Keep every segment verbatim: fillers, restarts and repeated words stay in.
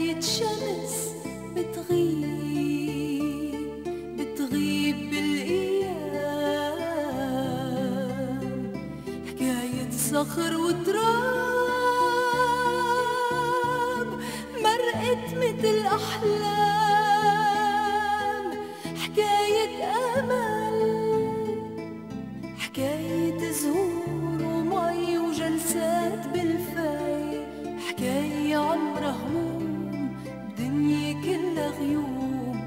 حكاية شمس بتغيب بتغيب بالأيام، حكاية صخر وتراب مرقت متل أحلام، حكاية أمل، حكاية زهور ومي وجلسات بالفاي، حكاية عمرها هموم بدنيا كلها غيوم،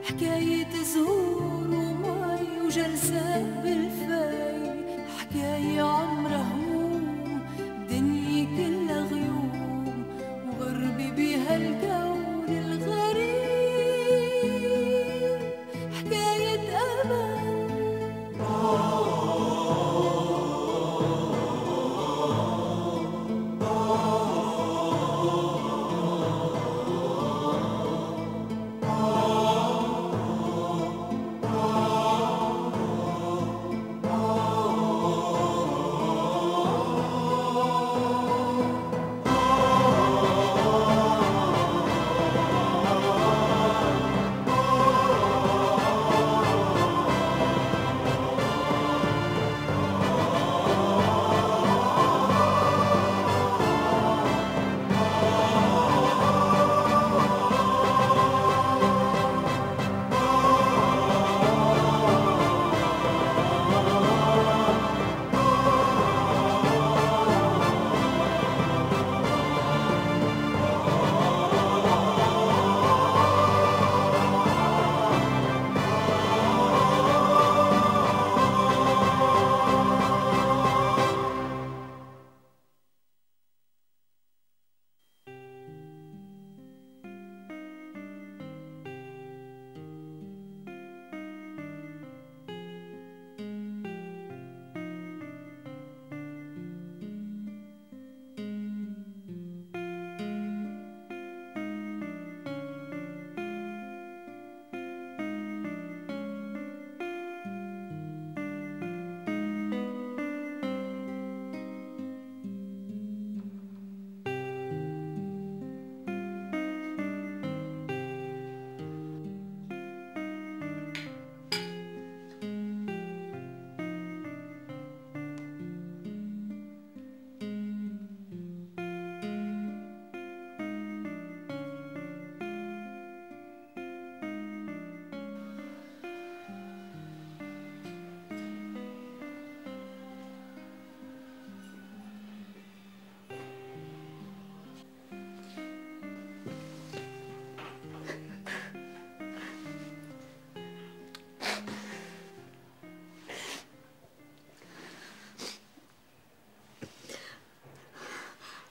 حكاية زهور ومي وجلسات بالفاي، حكاية عمرها هموم بدنيا كلها غيوم، وغربي بهالكون الغريب حكاية أمل.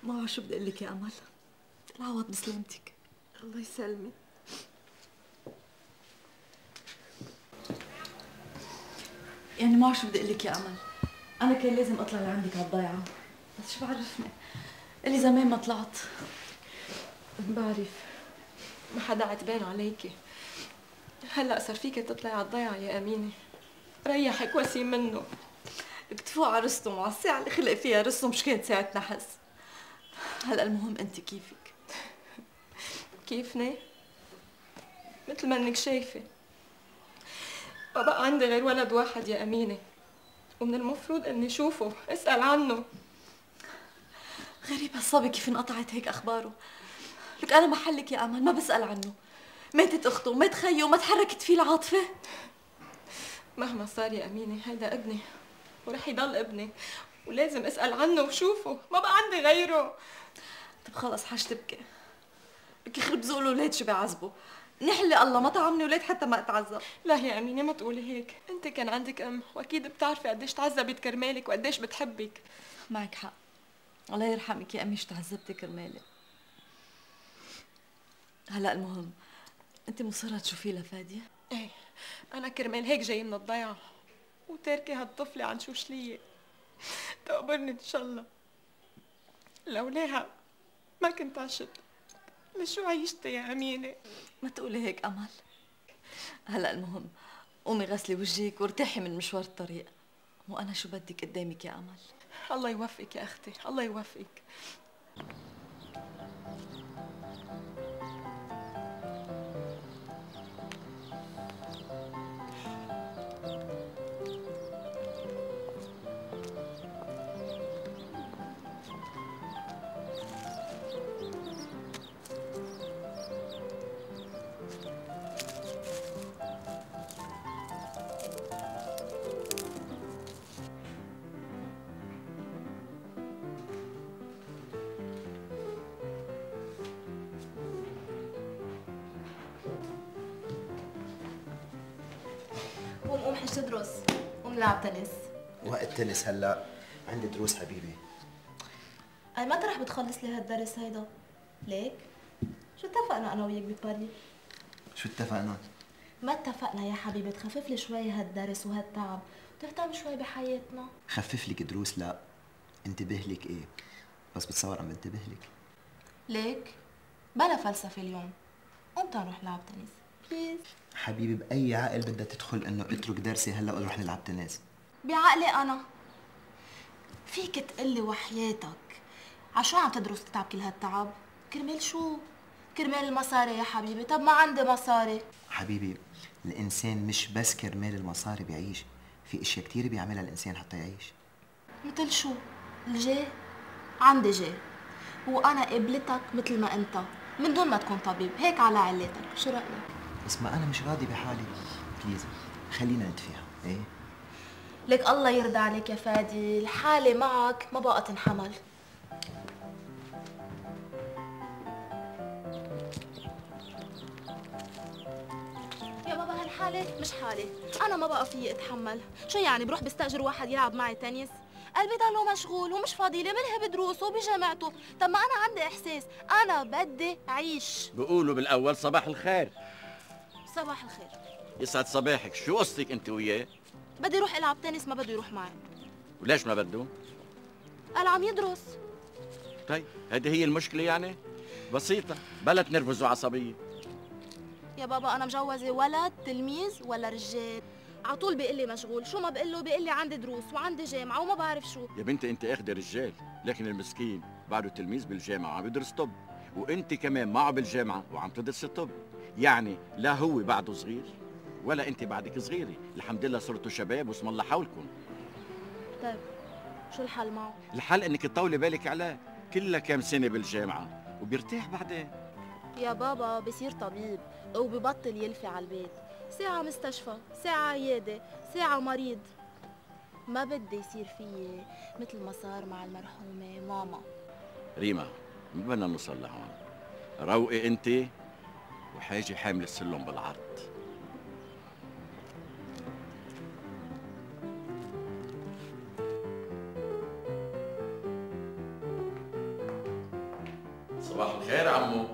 ما بعرف شو بدي اقول لك يا امل. العوض بسلامتك. الله يسلمك. يعني ما بعرف شو بدي اقول لك يا امل، انا كان لازم اطلع لعندك على الضيعه، بس شو بعرفني اللي زمان ما طلعت. بعرف ما حدا عتبان عليكي، هلا صار فيك تطلعي على الضيعه يا امينه، ريحك وسيم منه. بدك تفوق على رستم وعلى الساعه اللي خلق فيها رستم مش كانت ساعه نحس. هلا المهم انت كيفك؟ كيفني؟ مثل ما انك شايفه، ما بقى عندي غير ولد واحد يا امينه، ومن المفروض اني شوفه اسال عنه. غريب هالصبي كيف انقطعت هيك اخباره. لك انا محلك يا امل ما بسال عنه. ماتت اخته ومات خيه وما تحركت فيه العاطفه. مهما صار يا امينه هيدا ابني ورح يضل ابني، ولازم اسال عنه وشوفه، ما بقى عندي غيره. طب خلص حاج تبكي، لك يخرب ذوق الاولاد شو بيعذبوا. نحلي الله ما طعمني اولاد حتى ما اتعذب. لا يا امينه ما تقولي هيك، انت كان عندك ام واكيد بتعرفي قديش تعذبت كرمالك وقديش بتحبك. معك حق، الله يرحمك يا امي شو تعذبتي كرمالي. هلا المهم انت مصره تشوفيه لفاديه؟ ايه انا كرمال هيك جاي من الضيعه وتاركه هالطفله عن شوشليه تقبرني ان شاء الله. لولاها ما كنت عشت، لشو عيشتي يا امينه؟ ما تقولي هيك امل. هلا المهم قومي غسلي وجهك وارتاحي من مشوار الطريق، وانا شو بدك قدامك يا امل. الله يوفقك يا اختي، الله يوفقك. قوم قوم حج تدرس، قوم نلعب تنس. وقت تنس هلا؟ عندي دروس حبيبي. أي متى رح بتخلص لي هالدرس هيدا؟ ليك؟ شو اتفقنا أنا وياك بباري؟ شو اتفقنا؟ ما اتفقنا يا حبيبي تخفف لي شوي هالدرس وهالتعب وتهتم شوي بحياتنا؟ خفف لك دروس لا، انتبه لك ايه؟ بس بتصور عم بنتبه لك. ليك؟ بلا فلسفة اليوم. قوم تعال نروح نلعب تنس، بليز. حبيبي بأي عقل بدها تدخل انه اترك درسي هلا ونروح نلعب تنس؟ بعقلي أنا. فيك تقلي وحياتك عشو عم تدرس تتعب كل هالتعب؟ كرمال شو؟ كرمال المصاري يا حبيبي. طب ما عندي مصاري. حبيبي الانسان مش بس كرمال المصاري بيعيش، في اشياء كتير بيعملها الانسان حتى يعيش. مثل شو؟ الجاه؟ عندي جاه وانا قبلتك مثل ما انت من دون ما تكون طبيب، هيك على علاتك. شو رايك؟ بس ما انا مش راضي بحالي، بليز خلينا نتفاهم. ايه لك الله يرضى عليك يا فادي، الحالة معك ما بقى تنحمل. يا بابا هالحالة مش حالة، أنا ما بقى فيي أتحمل. شو يعني بروح بستأجر واحد يلعب معي تنس؟ قلبي ضله مشغول ومش فاضي لي منها بدروسه وبجامعته. طب ما أنا عندي إحساس، أنا بدي أعيش. بيقولوا بالأول صباح الخير. صباح الخير. يسعد صباحك، شو قصتك أنت وياه؟ بدي يروح العب تنس، ما بده يروح معي. وليش ما بده؟ قال عم يدرس. طيب هذه هي المشكلة يعني؟ بسيطة، بلا تنرفز وعصبية. يا بابا أنا مجوزة ولد تلميذ ولا رجال؟ عطول بيقول لي مشغول، شو ما بقول له بيقول لي عندي دروس وعندي جامعة وما بعرف شو. يا بنتي أنت أخدي رجال، لكن المسكين بعده تلميذ بالجامعة وعم يدرس طب، وأنت كمان معه بالجامعة وعم تدرسي طب، يعني لا هو بعده صغير ولا أنت بعدك صغيرة، الحمد لله صرتوا شباب واسم الله حولكم. طيب شو الحل معه؟ الحل إنك تطولي بالك عليه، كلها كام سنة بالجامعة وبيرتاح بعدين. يا بابا بصير طبيب وببطل يلفي على البيت، ساعة مستشفى، ساعة عيادة، ساعة مريض. ما بدي يصير فيي مثل ما صار مع المرحومة ماما. ريما ما بدنا نوصل لهون، روقي انت وحاجي حامل السلم بالعرض. صباح الخير عمو.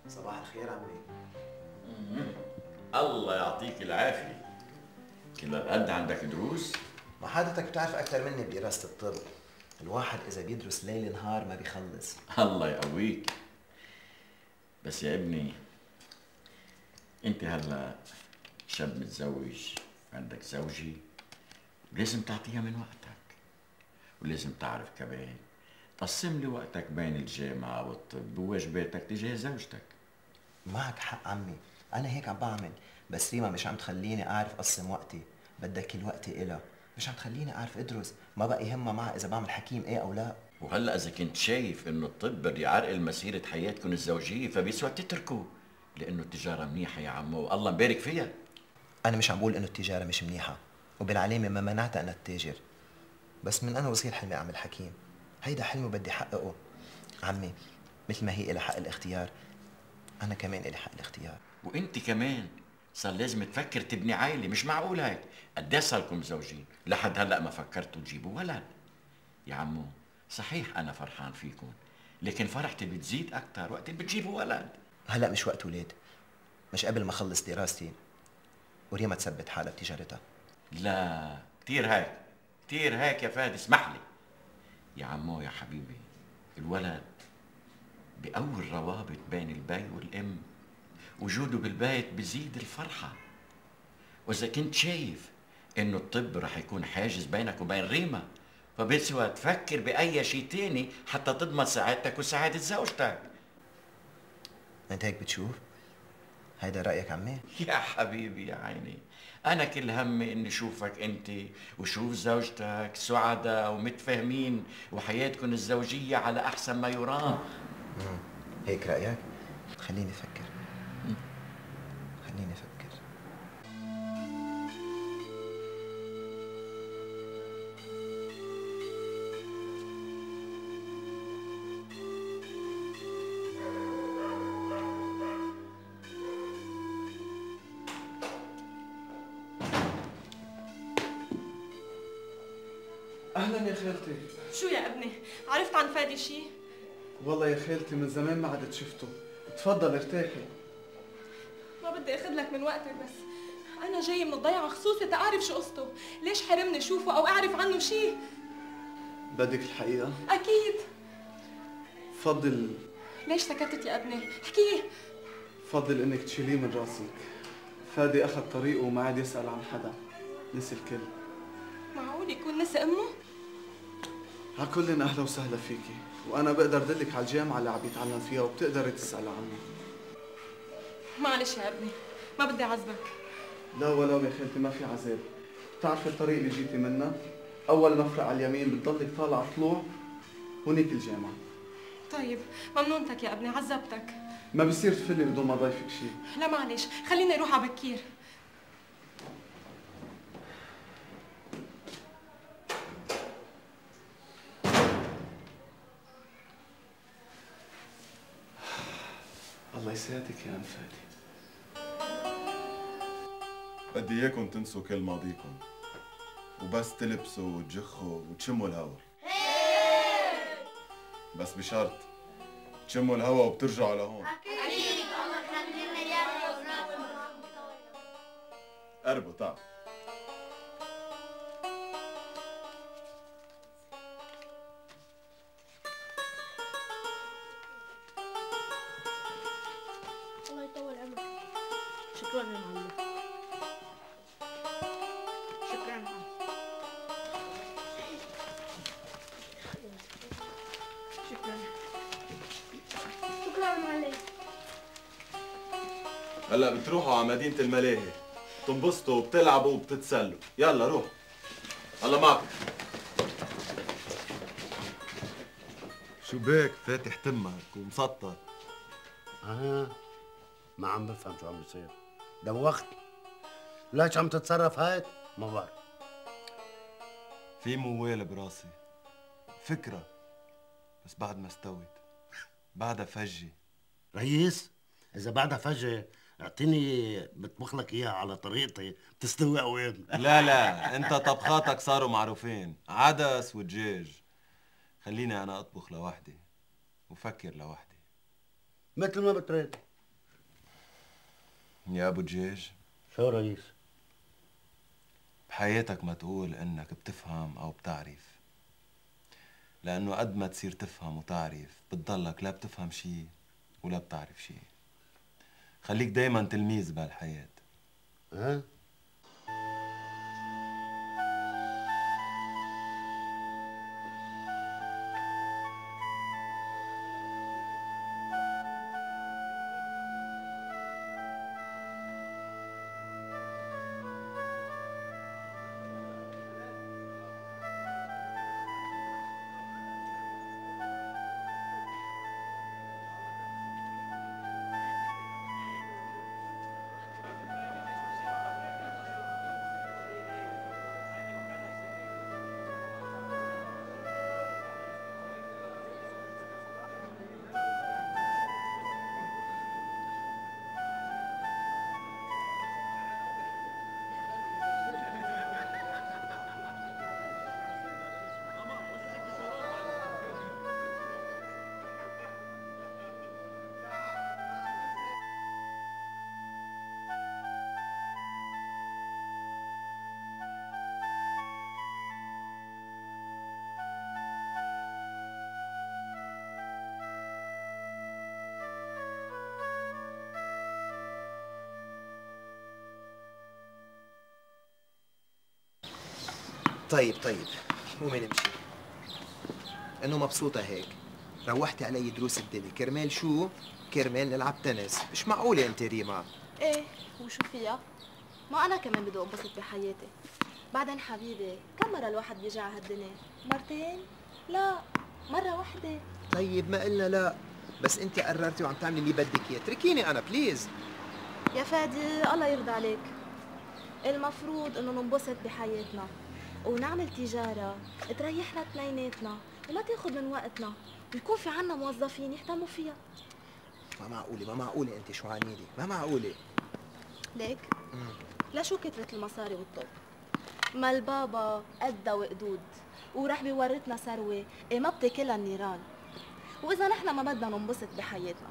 صباح الخير عمي. الله يعطيك العافية، كل هالقد عندك دروس؟ ما حضرتك بتعرف أكثر مني بدراسة الطب، الواحد إذا بيدرس ليل نهار ما بيخلص. الله يقويك. بس يا ابني انت هلا شاب متزوج، عندك زوجة، ولازم تعطيها من وقتك، ولازم تعرف كمان قسم لي وقتك بين الجامعة والطب وواجباتك تجاه زوجتك. معك حق عمي، أنا هيك عم بعمل، بس ريما مش عم تخليني أعرف أقسم وقتي، بدها كل وقتي إلها، مش عم تخليني أعرف أدرس، ما بقى يهمها معها إذا بعمل حكيم إيه أو لا. وهلا إذا كنت شايف إنه الطب بده يعرقل مسيرة حياتكم الزوجية فبيسوى تتركوا، لأنه التجارة منيحة يا عمو والله مبارك فيها. أنا مش عم بقول إنه التجارة مش منيحة، وبالعلامة ما منعتها أنا التاجر، بس من أنا وصغير حلمي أعمل حكيم، هيدا حلمي بدي أحققه. عمي مثل ما هي إلها حق الاختيار، أنا كمان إلي حق الاختيار. وانت كمان صار لازم تفكر تبني عائله، مش معقول هيك قد ايه صاركم مزوجين لحد هلا ما فكرتوا تجيبوا ولد؟ يا عمو صحيح انا فرحان فيكم، لكن فرحتي بتزيد اكثر وقت اللي بتجيبوا ولد. هلا مش وقت ولاد، مش قبل ما اخلص دراستي وريما تثبت حالها بتجارتها. لا كثير هيك، كثير هيك يا فادي، اسمح لي يا عمو يا حبيبي، الولد بقوي الروابط بين البي والام، وجوده بالبيت بزيد الفرحة. وإذا كنت شايف إنه الطب رح يكون حاجز بينك وبين ريما، فبسوى تفكر بأي شيء تاني حتى تضمن سعادتك وسعادة زوجتك. أنت هيك بتشوف؟ هيدا رأيك عمي؟ يا حبيبي يا عيني، أنا كل همي إني شوفك أنت وشوف زوجتك سعداء ومتفاهمين وحياتكم الزوجية على أحسن ما يرام. هيك رأيك؟ خليني أفكر. خليني أفكر. اهلا يا خالتي. شو يا ابني؟ عرفت عن فادي شي؟ والله يا خالتي من زمان ما عدت شفته. تفضل ارتاحي. ما بدي اخذ لك من وقتك، بس انا جاي من الضيعه خصوصي تعرف شو قصته. ليش حرمني شوفه او اعرف عنه شي؟ بدك الحقيقه؟ اكيد. فضل. ليش سكتت يا ابني؟ احكي. فضل انك تشيليه من راسك. فادي اخذ طريقه وما عاد يسال عن حدا، نسي الكل. معقول يكون نسي امه؟ على كل اهلا وسهلا فيكي، وانا بقدر دلك على الجامعه اللي عم يتعلم فيها وبتقدري تسالي عنه. معلش يا ابني، ما بدي اعذبك. لا ولو يا خالتي، ما في عذاب. بتعرفي الطريق اللي جيتي منه؟ اول مفرق على اليمين بتضلك طالعه طلوع، هونيك الجامعه. طيب ممنونتك يا ابني، عذبتك. ما بصير تفلي بدون ما ضيفك شيء. لا معلش، خليني اروح على بكير. الله يسعدك يا ام فادي. بدي اياكم تنسوا كل ماضيكم وبس تلبسوا وتجخوا وتشموا الهوا. بس بشرط تشموا الهوا وبترجعوا لهون. اكيد. الله يخلينا اياك. قربوا تعالوا. الله يطول عمرك. شكرا يا معلم. شكرا يا معلم. شكرا. شكرا يا معلم. هلا بتروحوا على مدينة الملاهي، تنبسطوا وبتلعبوا وبتتسلوا. يلا روح. الله معكم. شو بك فاتح تمك ومسطر؟ اه ما عم بفهم شو عم بيصير. دوختني. ليش عم تتصرف هيك؟ ما بعرف. في موال براسي، فكرة، بس بعد ما استوت، بعدها فجة. رئيس، إذا بعدها فجأة اعطيني بطبخ لك إياها على طريقتي بتستوي قوام. لا لا، أنت طبخاتك صاروا معروفين، عدس ودجاج. خليني أنا أطبخ لوحدي وفكر لوحدي. مثل ما بتريد. يا أبو دجاج. شو رئيس؟ بحياتك ما تقول إنك بتفهم أو بتعرف، لأنه قد ما تصير تفهم وتعرف بتضلك لا بتفهم شي ولا بتعرف شي. خليك دايما تلميذ بهالحياة. ها؟ طيب طيب قومي نمشي. انه مبسوطة هيك. روحتي علي دروس الدلي، كرمال شو؟ كرمال نلعب تنس. مش معقولة انت ريما. ايه وشو فيها؟ ما انا كمان بدي انبسط بحياتي. بعدين حبيبي، كم مرة الواحد بيجي على هالدنيا؟ مرتين؟ لا، مرة واحدة. طيب ما قلنا لا، بس انت قررتي وعم تعملي اللي بدك اياه، اتركيني انا بليز. يا فادي الله يرضى عليك. المفروض انه ننبسط بحياتنا ونعمل تجارة تريحنا اثنيناتنا وما تاخذ من وقتنا، ويكون في عنا موظفين يهتموا فيها. ما معقولة ما معقولة انت شو عاملة؟ ما معقولة. ليك؟ مم. لشو كثرة المصاري والطب؟ ما البابا قدها وقدود ورح بيورثنا ثروة إيه ما بتاكلها النيران. وإذا نحن ما بدنا ننبسط بحياتنا،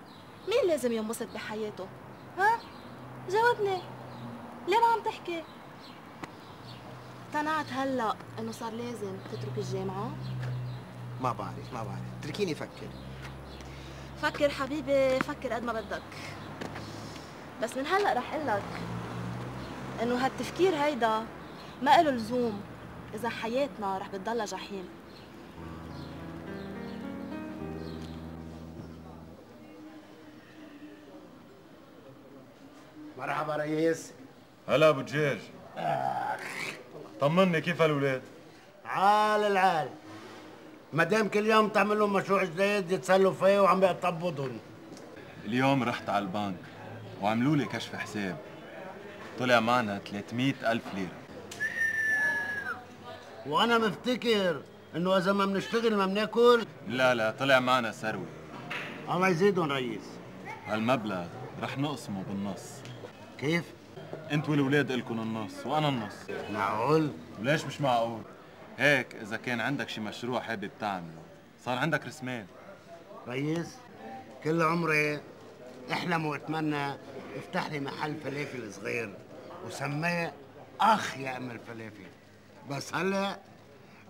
مين لازم ينبسط بحياته؟ ها؟ جاوبني، ليه ما عم تحكي؟ اقتنعت هلأ إنه صار لازم تترك الجامعة؟ ما بعرف ما بعرف، اتركيني فكر. فكر حبيبي، فكر قد ما بدك، بس من هلأ رح قلك إنه هالتفكير هيدا ما إله لزوم إذا حياتنا رح بتضلها جحيم. مرحبا ريس. هلا ابو دجاج. طمني كيف هالولاد؟ عال العال، ما دام كل يوم تعمل لهم مشروع جديد يتسلوا فيه وعم بيقطبضهم. اليوم رحت على البنك وعملوا لي كشف حساب، طلع معنا ثلاثمية ألف ليرة. وانا مفتكر انه اذا ما بنشتغل ما بناكل. لا لا، طلع معنا ثروة. الله يزيدهم ريس. هالمبلغ رح نقسمه بالنص. كيف؟ انت والولاد الكم النص وانا النص. معقول؟ وليش مش معقول؟ هيك اذا كان عندك شي مشروع حابب تعمله صار عندك راس مال. ريس، كل عمري احلم واتمنى افتح لي محل فلافل صغير وسميه اخ يعمل الفلافل، بس هلا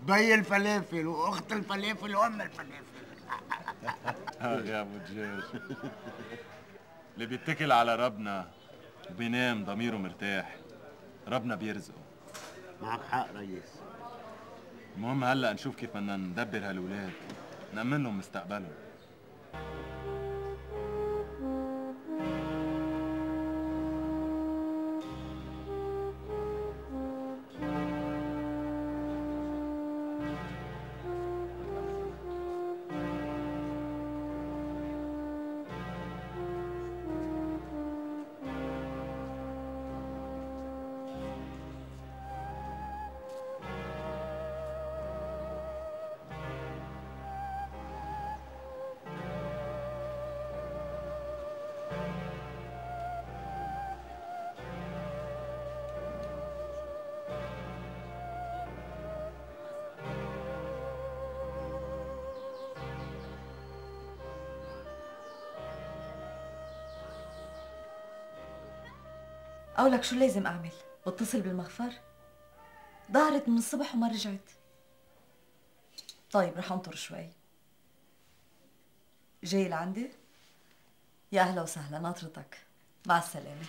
بي الفلافل واخت الفلافل وام الفلافل. اه يا ابو دجاج. اللي بيتكل على ربنا وبينام ضميره مرتاح ربنا بيرزقه. معك حق ريس. المهم هلا نشوف كيف بدنا ندبر هالولاد، نأمن لهم مستقبلهم. قولك شو لازم أعمل؟ بتصل بالمخفر؟ ظهرت من الصبح وما رجعت. طيب رح انطر شوي. جاي لعندي؟ يا أهلا وسهلا، ناطرتك. مع السلامة.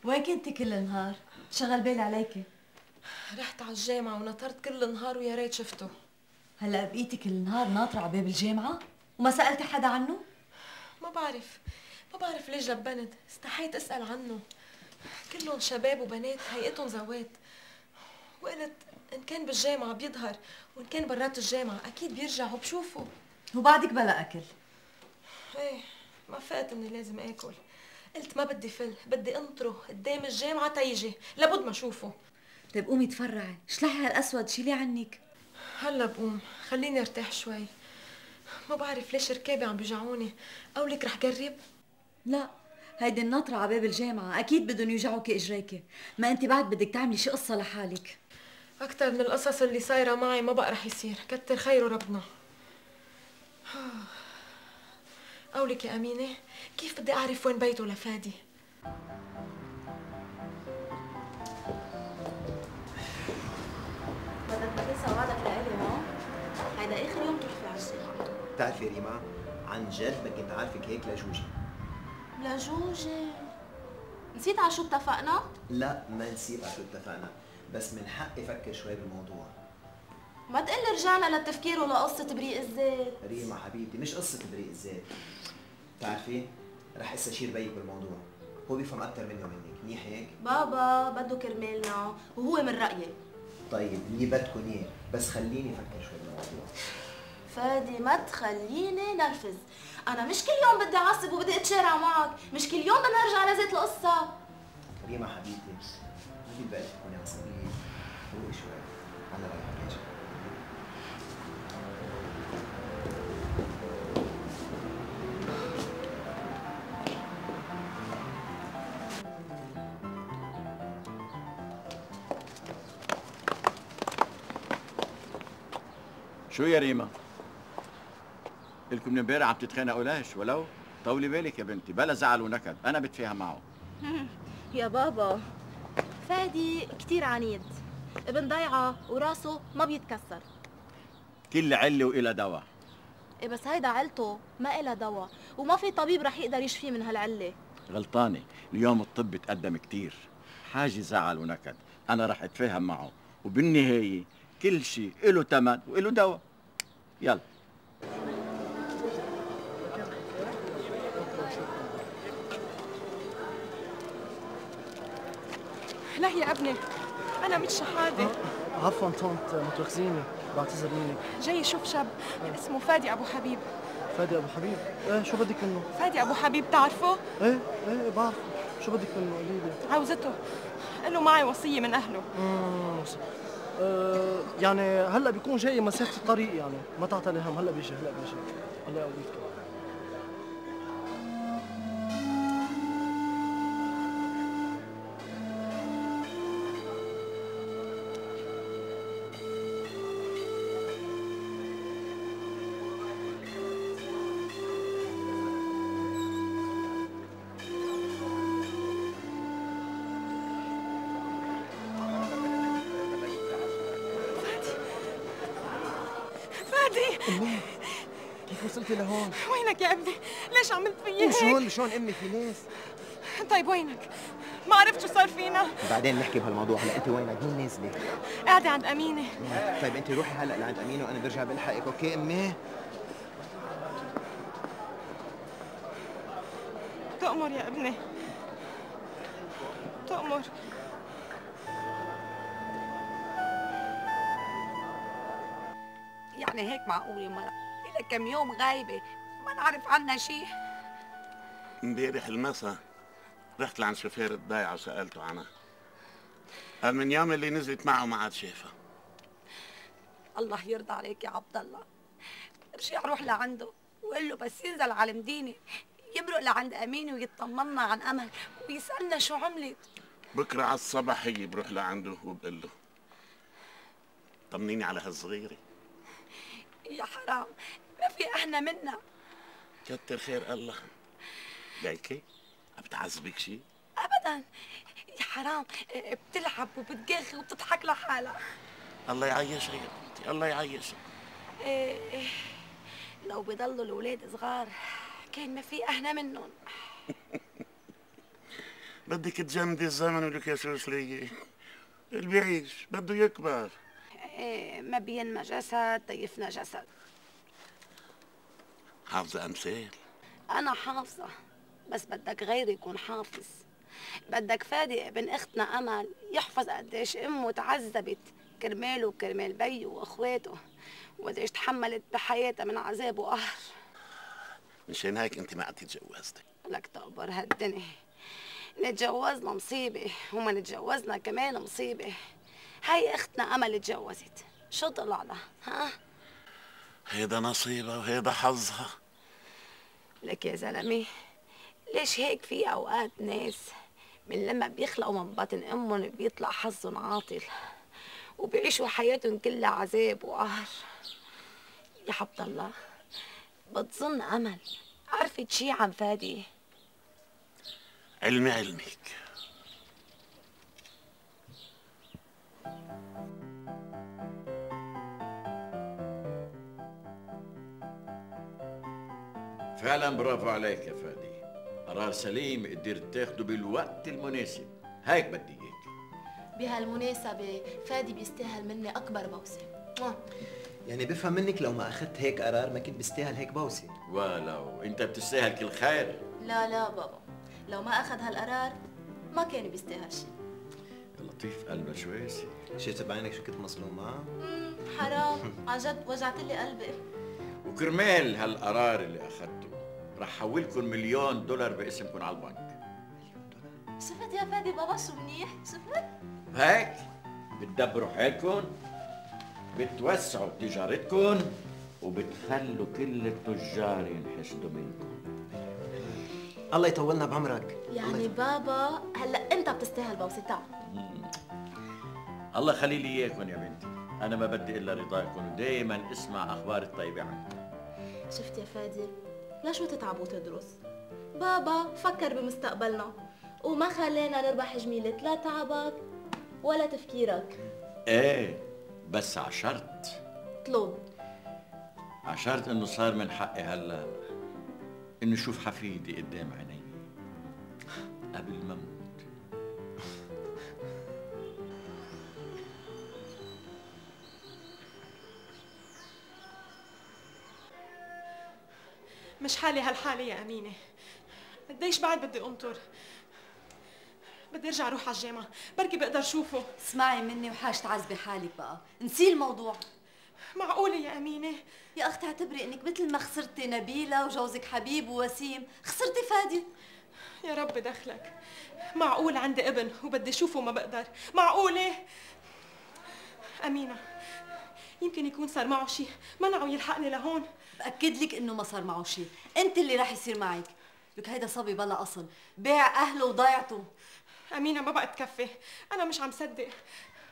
وين كنتي كل النهار؟ شغل بالي عليكي. رحت على الجامعة ونطرت كل النهار ويا ريت شفته. هلا بقيتي كل النهار ناطرة على باب الجامعة وما سألتي حدا عنه؟ ما بعرف ما بعرف ليش لبنت، استحيت اسأل عنه. كلهم شباب وبنات هيئتهم زوات، وقلت ان كان بالجامعة بيظهر وان كان برات الجامعة اكيد بيرجع وبشوفه. وبعدك بلا اكل؟ ايه ما فقت اني لازم اكل، قلت ما بدي فل، بدي انطره قدام الجامعة تيجي لابد ما اشوفه. طيب قومي تفرعي، شلحي هالاسود شيليه عنك. هلا بقوم، خليني ارتاح شوي. ما بعرف ليش ركابي عم بيوجعوني، قولك رح جرب؟ لا، هيدي الناطرة على باب الجامعة أكيد بدهم يوجعوكي إجريكي، ما أنت بعد بدك تعملي شي قصة لحالك. أكتر من القصص اللي صايرة معي ما بقى رح يصير، كتر خيره ربنا. قولك يا أمينة، كيف بدي أعرف وين بيته لفادي؟ بدك تنسى وعدك لإلي ها؟ هيدا آخر يوم تروح فيه على الجامعة. بتعرفي ريما، عن جد ما كنت عارفك هيك لجوجي. لجوجي؟ نسيت على شو اتفقنا؟ لا ما نسيت على شو اتفقنا، بس من حقي افكر شوي بالموضوع. ما تقلي رجعنا للتفكير ولقصة تبريء الذات. ريما حبيبتي مش قصة تبريء الذات. بتعرفي رح استشير بيك بالموضوع، هو بيفهم أكثر مني ومنك، منيح هيك؟ بابا بده كرمالنا وهو من رأيي. طيب اللي بدكم اياه، بس خليني افكر شوي بالموضوع. فادي ما تخليني نرفز، أنا مش كل يوم بدي أعصب وبدي أتشارع معك، مش كل يوم بدنا نرجع لذات القصة. ريما حبيبتي ما في بالك تكوني عصبية، روقي شوي، أنا رايح راجع. شو يا ريما؟ لكم من امبارح عم تتخانقوا ليش ولو؟ طولي بالك يا بنتي، بلا زعل ونكد، أنا بتفاهم معه. يا بابا فادي كتير عنيد، ابن ضيعة وراسه ما بيتكسر. كل علة وإلها دواء. إيه بس هيدا علته ما إلها دواء، وما في طبيب رح يقدر يشفيه من هالعلة. غلطانة، اليوم الطب تقدم كتير، حاجة زعل ونكد، أنا رح أتفاهم معه، وبالنهاية كل شيء إله تمن وإله دواء. يلا. لا يا ابني، أنا مش شحادة. عفوا طنط، متوخزيني، بعتذر منك. جاي شوف شاب اسمه فادي أبو حبيب. فادي أبو حبيب؟ إيه شو بدك منه؟ فادي أبو حبيب تعرفه؟ إيه إيه بعرفه، شو بدك منه؟ قولي لي. عاوزته، قال له معي وصية من أهله. اممم آه يعني هلا بيكون جاي مسافة الطريق، يعني ما تعطي هم، هلا بيجي هلا بيجي. الله يقويك. أمي كيف وصلتي لهون؟ وينك يا ابني؟ ليش عملت فيي هيك؟ شلون شلون أمي في ناس؟ طيب وينك؟ ما عرفت شو صار فينا؟ بعدين نحكي بهالموضوع، هلا أنت وينك؟ مين نازلة؟ قاعدة عند أمينة. طيب أنت روحي هلا لعند أمينة وأنا برجع بلحقك، أوكي أمي؟ تأمر يا ابني، تأمر. يعني هيك معقولة مرة إلك كم يوم غايبة ما نعرف عنها شيء؟ امبارح المسا رحت لعند شوفير الضيعة وسألته عنها، قال من يوم اللي نزلت معه ما عاد شافها. الله يرضى عليك يا عبد الله، ارجع روح لعنده وقول له بس ينزل على المدينة يمرق لعند أمين ويطمنا عن أمل ويسألنا شو عملت. بكرة على الصبح هي بروح لعنده وبقول له طمنيني على هالصغيرة. يا حرام ما في احنا منا. كتر خير الله. ليكي عم بتعذبك شيء؟ ابدا يا حرام، بتلعب وبتقخ وبتضحك لحالها. الله يعيشها يا بنتي، الله يعيشها. إيه لو بضلوا الاولاد صغار كان ما في احنا منهم. بدك تجمدي الزمن ولك يا سوسلية، اللي بيعيش بده يكبر. إيه ما بينما جسد تيفنا جسد. حافظة أمثال؟ أنا حافظة، بس بدك غيري يكون حافظ. بدك فادي ابن أختنا أمل يحفظ قديش أمه تعذبت كرماله وكرمال بيه وأخواته، وقديش تحملت بحياتها من عذاب وقهر. مشان هيك أنت ما قعدتي تجوزتي. لك تقبر هالدنيا، نتجوزنا مصيبة وما نتجوزنا كمان مصيبة. هاي اختنا امل تجوزت، شو طلع لها؟ ها؟ هيدا نصيبها وهيدا حظها. لك يا زلمه ليش هيك في اوقات ناس من لما بيخلقوا من بطن امهم بيطلع حظهم عاطل وبيعيشوا حياتهم كلها عذاب وقهر. يا عبد الله بتظن امل عرفت شي عن فادي؟ علمي علمك. فعلا برافو عليك يا فادي، قرار سليم قدرت تاخده بالوقت المناسب، هيك بدي اياك. بهالمناسبة فادي بيستاهل مني أكبر بوسة. يعني بفهم منك لو ما أخذت هيك قرار ما كنت بستاهل هيك بوسة. ولو أنت بتستاهل كل خير. لا لا بابا، لو ما أخذ هالقرار ما كان بيستاهل شيء. يا لطيف قلبنا شوي. شفت بعينك شو كنت مظلومة؟ حرام، عن جد وجعت لي قلبي. وكرمال هالقرار اللي أخذته رح حولكم مليون دولار باسمكم على البنك. شفت يا فادي بابا شو منيح؟ شفت؟ هيك بتدبروا حالكم، بتوسعوا تجارتكم، وبتخلوا كل التجار ينحشدوا منكم. الله يطولنا بعمرك. يعني بابا هلا انت بتستاهل بوسه. تعال الله يخلي لي اياكم يا بنتي. أنا ما بدي إلا رضاكم، دايما اسمع أخبار الطيبة عنك. شفت يا فادي، لا شو تتعب وتدرس. بابا فكر بمستقبلنا وما خلينا نربح جميلة لا تعبك ولا تفكيرك. إيه بس عشرت. اطلب. عشرت إنه صار من حقي هلا إنه شوف حفيدي قدام عيني قبل ما أموت. مش حالي هالحالة يا أمينة. قديش بعد بدي أنطر؟ بدي ارجع اروح على الجامعة، بركي بقدر شوفه. اسمعي مني وحاج تعذبي حالك بقى، نسي الموضوع. معقولة يا أمينة؟ يا أختي اعتبري إنك مثل ما خسرتي نبيلة وجوزك حبيب ووسيم، خسرتي فادي. يا رب دخلك. معقول عندي ابن وبدي شوفه ما بقدر؟ معقولة؟ أمينة يمكن يكون صار معه شيء منعه يلحقني لهون. بأكد لك إنه ما صار معه شيء، أنت اللي رح يصير معك. لك هيدا صبي بلا أصل، باع أهله وضيعته. أمينة ما بقى تكفي، أنا مش عم صدق،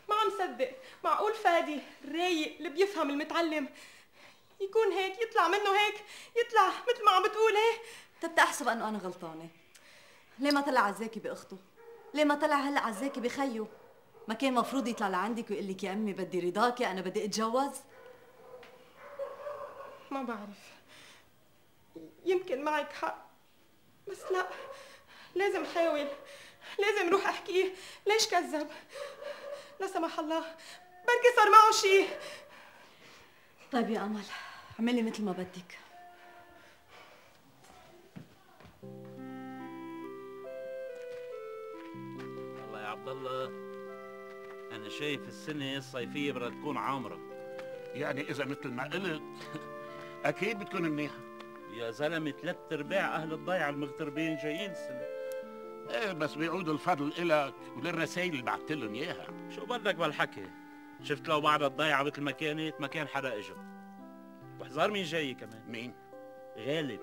ما عم صدق. معقول فادي الرايق اللي بيفهم المتعلم يكون هيك، يطلع منه هيك، يطلع مثل ما عم بتقول هيك؟ طب تحسب أنه أنا غلطانة. ليه ما طلع عزاكي بأخته؟ ليه ما طلع هلا عزاكي بخيه؟ ما كان مفروض يطلع لعندك ويقول لك يا أمي بدي رضاكي، أنا بدي أتجوز؟ ما بعرف، يمكن معك حق، بس لا، لازم حاول، لازم روح احكيه. ليش كذب؟ لا سمح الله بركي صار معه شيء. طيب يا أمل اعملي مثل ما بدك. والله يا عبد الله أنا شايف السنة الصيفية بدها تكون عامرة. يعني إذا مثل ما قلت أكيد بتكون منيحة. يا زلمة ثلاث أرباع أهل الضيعة المغتربين جايين السنة. إيه بس بيعودوا الفضل إلك وللرسائل اللي بعثت لهم إياها. شو بدك بالحكي؟ شفت لو بعد الضيعة مثل ما كانت ما كان حدا إجا. واحذر مين جاي كمان. مين؟ غالب.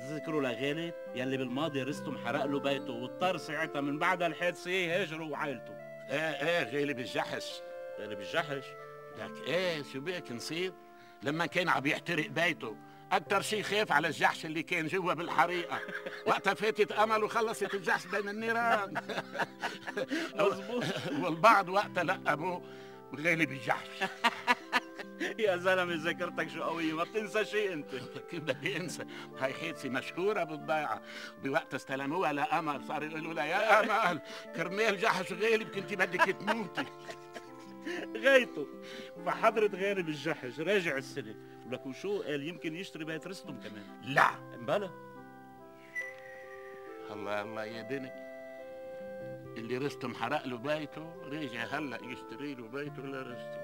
تذكروا لغالب يلي بالماضي رستم حرق له بيته واضطر ساعتها من بعد الحادثة يهاجروا وعائلته. ايه ايه غالب الجحش. غالب الجحش؟ لك ايه شو بيك نصير؟ لما كان عم يحترق بيته أكتر شيء خاف على الجحش اللي كان جوا بالحريقة. وقتها فاتت أمل وخلصت الجحش بين النيران. مظبوط. والبعض وقتها لقبوه غالب الجحش. يا زلمة ذاكرتك شو قوية، ما بتنسى شيء أنت. كيف بدي أنسى؟ هاي حادثة مشهورة بالضيعة، بوقت استلموها لأمل صاروا يقولوا لها يا أمل كرمال جحش غالب كنتي بدك تموتي. غايته. فحضرة غالب الجحش راجع السنة، ولك وشو قال يمكن يشتري بيت رستم كمان. لا بلا. الله الله يا بني، اللي رستم حرق له بيته راجع هلا يشتري له بيته لرستم.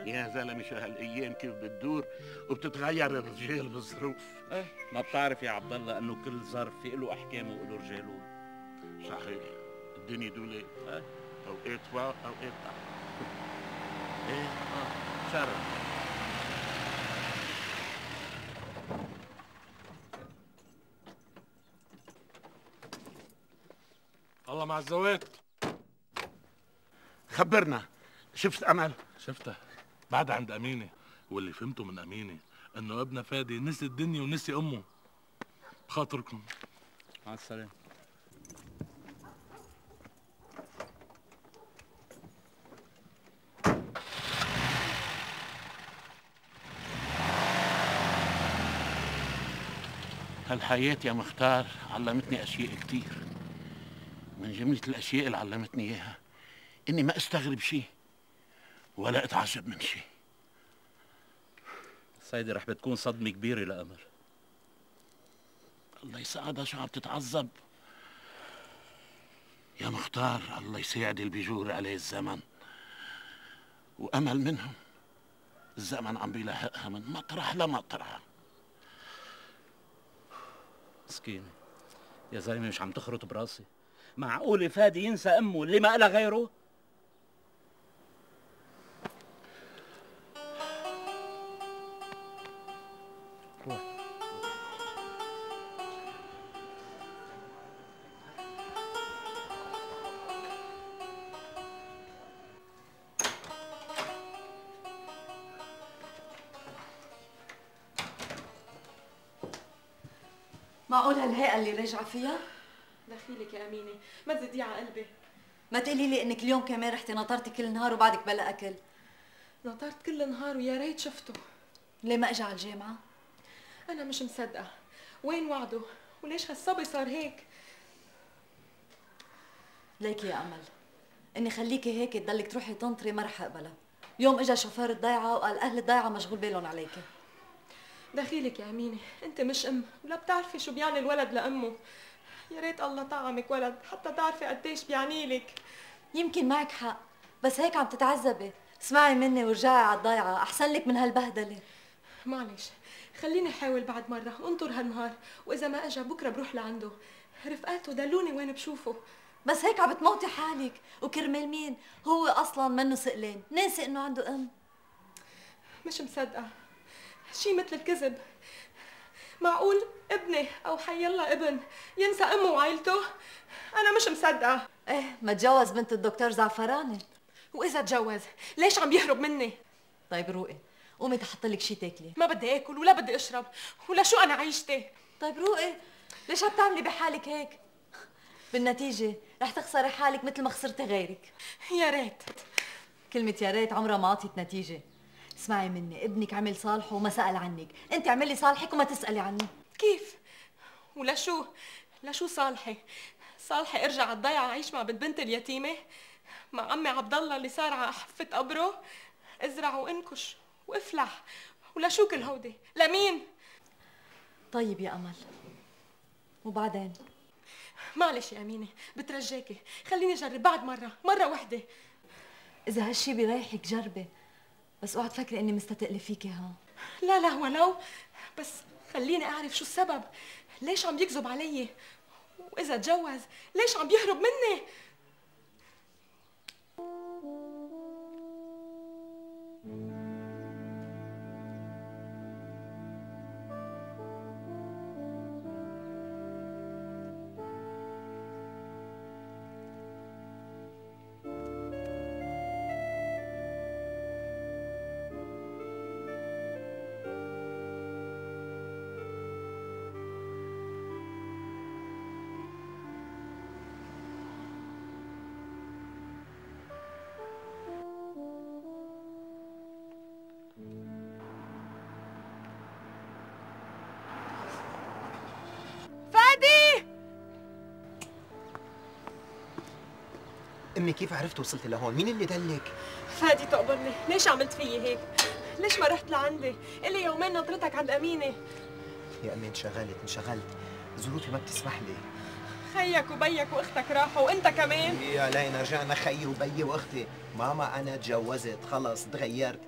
يا زلمه شو هالايام كيف بتدور وبتتغير الرجال بالظروف. ايه ما بتعرف يا عبد الله انه كل ظرف في له احكامه وله رجاله. صحيح الدنيا دولة ايه اوقات فوق اوقات تحت. ايه اه شرف. الله مع الزوات. خبرنا شفت امل؟ شفتها بعد عند امينه، واللي فهمته من امينه انه ابنها فادي نسي الدنيا ونسي امه. بخاطركم مع السلامه. هالحياة يا مختار علمتني اشياء كتير، من جملة الاشياء اللي علمتني اياها اني ما استغرب شيء ولا اتعجب من شيء. سيدي رح بتكون صدمة كبيرة لأمل. الله يساعدها شو عم تتعذب يا مختار. الله يساعد اللي بيجور عليه الزمن، وأمل منهم الزمن عم بيلاحقها من مطرح لمطرح. مسكينة يا زلمة مش عم تخرط براسي. معقولة فادي ينسى أمه اللي ما إلها غيره؟ روح. معقول هالهيئة اللي راجعة فيها؟ دخيلك يا أمينة، ما تزيدي على قلبي. ما تقولي لي انك اليوم كمان رحتي نطرتي كل نهار وبعدك بلا اكل. نطرت كل نهار ويا ريت شفته. ليه ما اجى على الجامعة؟ أنا مش مصدقة، وين وعده؟ وليش هالصبي صار هيك؟ ليكي يا أمل، إني خليكي هيك تضلك تروحي تنطري ما رح أقبلها. اليوم اجى شوفير الضيعة وقال أهل الضيعة مشغول بالهم عليكي. دخيلك يا أمينة، أنت مش أم ولا بتعرفي شو بيعني الولد لأمه. يا ريت الله طعمك ولد حتى تعرفي قديش بيعني لك. يمكن معك حق، بس هيك عم تتعذبي. اسمعي مني ورجعي على الضيعة، أحسن لك من هالبهدلة. معلش، خليني أحاول بعد مرة وانطر هالنهار، وإذا ما أجا بكرة بروح لعنده. رفقاته دلوني وين بشوفه. بس هيك عم بتموتي حالك، وكرمال مين؟ هو أصلاً منه سئلان، ناسي إنه عنده أم. مش مصدقة، شي مثل الكذب. معقول ابني أو حيالله ابن ينسى أمه وعائلته؟ أنا مش مصدقة. إيه، ما تجوز بنت الدكتور زعفراني. وإذا تجوز، ليش عم بيهرب مني؟ طيب روقي، قومي تحط لك شي تاكلي. ما بدي آكل ولا بدي أشرب، ولا شو أنا عيشتي. طيب روقي، ليش عم تعملي بحالك هيك؟ بالنتيجة رح تخسري حالك مثل ما خسرتي غيرك. يا ريت. كلمة يا ريت عمرها ما عطيت نتيجة. اسمعي مني، ابنك عمل صالحه وما سأل عنك، انت اعملي صالحك وما تسألي عنه. كيف؟ ولا شو؟ لشو صالحي؟ صالحي ارجع على الضيعة اعيش مع بنت بنت اليتيمة؟ مع عمي عبد الله اللي صار على حفة قبره؟ ازرع وانكش وافلح، ولا شو كل هودي؟ لمين؟ طيب يا أمل، وبعدين؟ معلش يا أمينة، بترجاكي خليني أجرب بعد مرة، مرة وحدة. إذا هالشي بيريحك جربي، بس اوعى تفكري إني مستتقلة فيكي ها. لا لا ولو، بس خليني أعرف شو السبب، ليش عم يكذب علي؟ وإذا تجوز ليش عم بيهرب مني؟ امي كيف عرفت وصلت لهون؟ مين اللي دلك؟ فادي تقبرني، ليش عملت فيي هيك؟ ليش ما رحت لعندي؟ إلي يومين نطرتك عند أمينة. يا امي انشغلت انشغلت، ظروفي ما بتسمح لي. خيك وبيك واختك راحوا وانت كمان. يا لينا رجعنا خيي وبيي واختي. ماما انا تجوزت خلص تغيرت،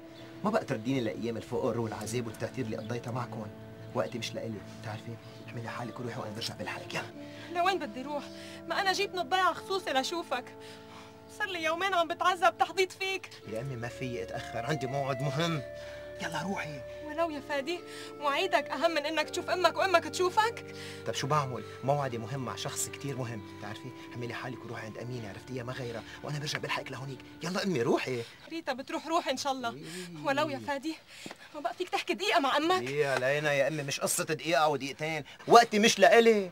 ما بقى ترديني لايام الفقر والعذاب والتهتير اللي قضيتها معكم. وقتي مش لإلي، بتعرفي؟ احملي حالك وروحي وانا برجع بالحرك. يلا. لوين بدي روح؟ ما انا جيت من الضيعه خصوصي لشوفك. صار لي يومين عم بتعذب تحضيض فيك. يا امي ما فيي اتاخر، عندي موعد مهم. يلا روحي. ولو يا فادي، مواعيدك اهم من انك تشوف امك وامك تشوفك. طب شو بعمل؟ موعدي مهم مع شخص كثير مهم، بتعرفي؟ حملي حالك وروحي عند امينه، عرفتيها ما غيرها، وانا برجع بلحقك لهونيك. يلا امي روحي. ريتا بتروح روح ان شاء الله. ولو يا فادي، ما بقى فيك تحكي دقيقه مع امك. يا لينا يا امي مش قصه دقيقه او دقيقتين، وقتي مش لإلي.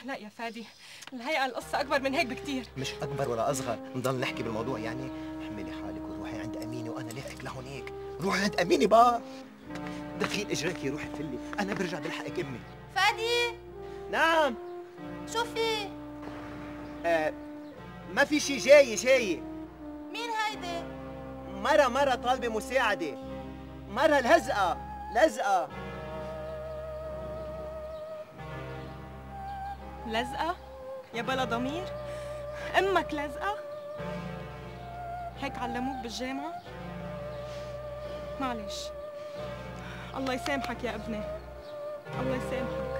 لا يا فادي، الهيئه القصه اكبر من هيك بكثير. مش اكبر ولا اصغر، نضل نحكي بالموضوع يعني. حملي حالك وروحي عند امينه وانا لاحقك لهونيك. روحي عند امينه بقى. دخيل اجريكي روحي فلي، انا برجع بلحقك امي. فادي. نعم. شو في؟ آه ما في شي، جاي جاي. مين هيدي؟ مرة مرة طالبة مساعدة، مرة لزقة لزقة. لزقة؟ يا بلا ضمير؟ امك لزقة؟ هيك علموك بالجامعة؟ معلش، الله يسامحك يا ابني، الله يسامحك.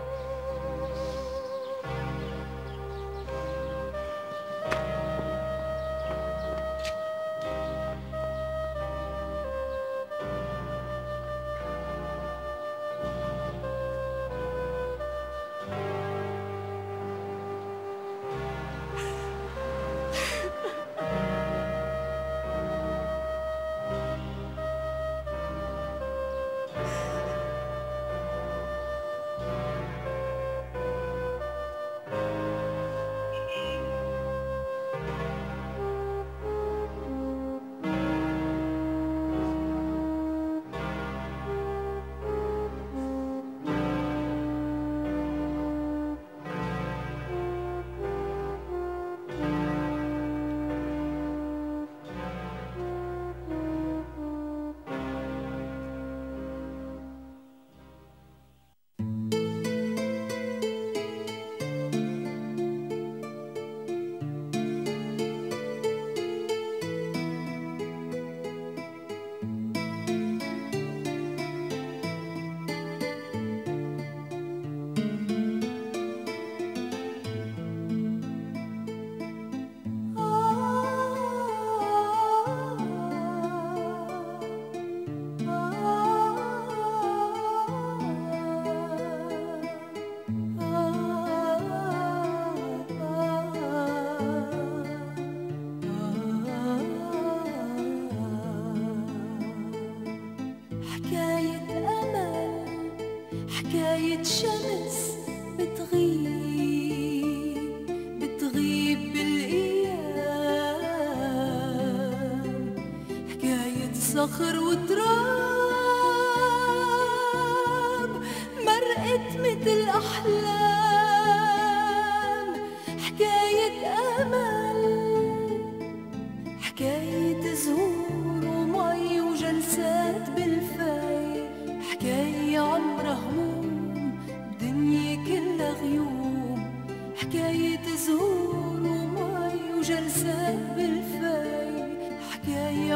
حكاية شمس بتغيب بتغيب بالأيام، حكاية صخر وتراب مرقت متل أحلام، حكاية أمل، حكاية زهور ومي وجلسات بالفاي، حكاية عمرها هموم بدنيا كلها غيوم، حكاية زهور ومي وجلسات بالفاي، حكاية